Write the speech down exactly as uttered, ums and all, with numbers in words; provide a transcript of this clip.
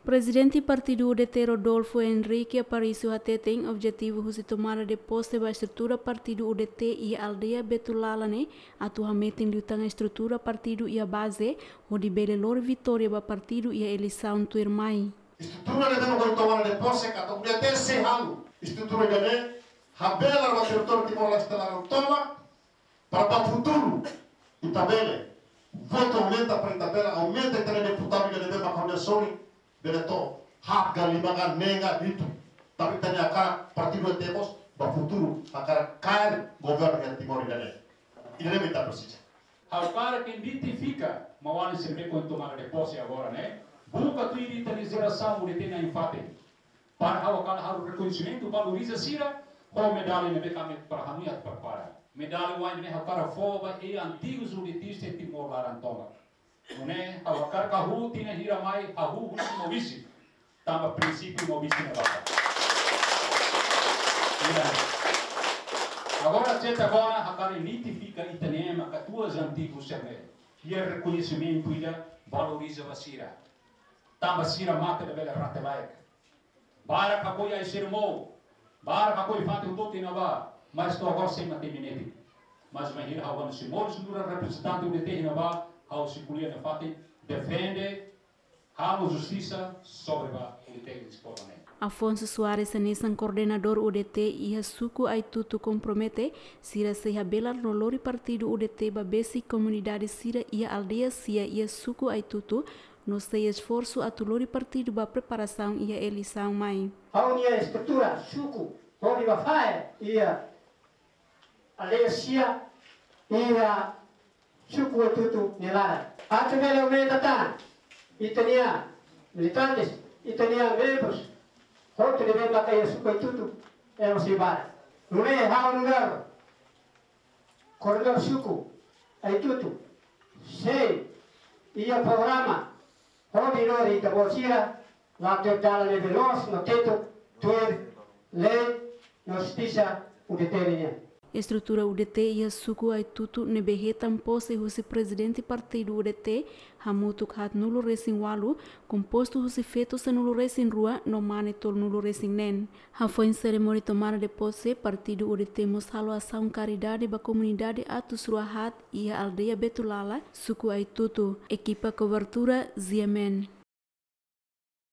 Prezidente Partidu U D T Rodolfo Henrique Aparício hateten objetivu husi tomada de pose ba estrutura Partidu U D T iha aldeia Betulala ne'e atu hametin liután estrutura partidu iha baze hodi bele lori vitória ba partidu iha eleisaun tuirmai. Estrutura ne'ebé mak ohin tomada de pose katak U D T sei halo estrutura ida-ne'e, habelar ba territóriu Timor-Leste laran tomak, para ba futuru ita bele votu aumenta, para ita bele aumenta ita-nia deputadu ida ne'ebé mak ha'u-nia sorin bele to'o haat ka lima ka neen ka hitu. Tanba ita-nia hakarak partidu ida-ne'e mós ba futuru hakarak kaer governu iha Timor ida-ne'e. Ida-ne'e mak ita presiza. Ha'u hakarak identifika maun-alin sira ne'ebé ohin tomada de pose agora ne'e, buka tuir ita-nia jerasaun U D T na'in-fatin. Para ha'u hakarak halo rekoñesimentu, valoriza sira ho medalla ne'ebé mak ami para hanoin atu prepara. Medalla oan ne'e ha'u hakarak fó ba eis-antigu U D T iha Timor laran tomak. Nune'e ha'u hakarak hahú tinan hira mai, hahú husi Maubisse. Tanba prinsípiu Maubisse ne'e barak. Ida. Agora, seta agora, hakarak identifika ita-nia ema katuas antigu sira ne'e. Iha rekoñesimentu ida, valoriza ba sira. Tanba sira mate labele rate-laek. Barak hakoi ai-sira moos. Barak hakoi fatin hotu-hotu iha ne'ebá. Mas to'o agora sei matenek netik. Mas bainhira ha'u hanesan moris nu'udar reprezentante U D T iha ne'ebá, ha'u sei ko'alia nafatin, defende, halo justisa sobre ba U D T iha Timor ne'e. Afonso Soares hanesan koordenadór U D T iha suku Aitutu kompromete, sira sei habelar no lori partidu U D T ba besik komunidade sira iha aldeia sia iha suku Aitutu, no sei esforsu atu lori partidu ba preparasaun iha eleisaun mai. Ha'u-nia estrutura suku hodi ba fahe iha aldeia sia iha suku Aitutu nia laran. Atu bele aumenta tan ita-nia militantes, ita-nia membrus hotu ne'ebé maka iha suku Aitutu, ema sei barak. Nune'e ha'u nu'udar koordenadór suku Aitutu sei iha programa hodi lori ita-boot sira la'o to'o dalan ne'ebé loos no tetu tuir lei no justisa U D T nian. Estrutura U D T iha suku Aitutu ne'ebé hetan pose husi prezidente partidu U D T hamutuk haatnulu-resin-ualu, kompostu husi feto sanulu-resin-rua no mane tolunulu-resin-neen. Hafoin serimónia tomada de pose, partidu U D T mós halo asaun karidade ba komunidade atus rua haat iha aldeia Betulala, suku Aitutu. Ekipa kobertura G M N.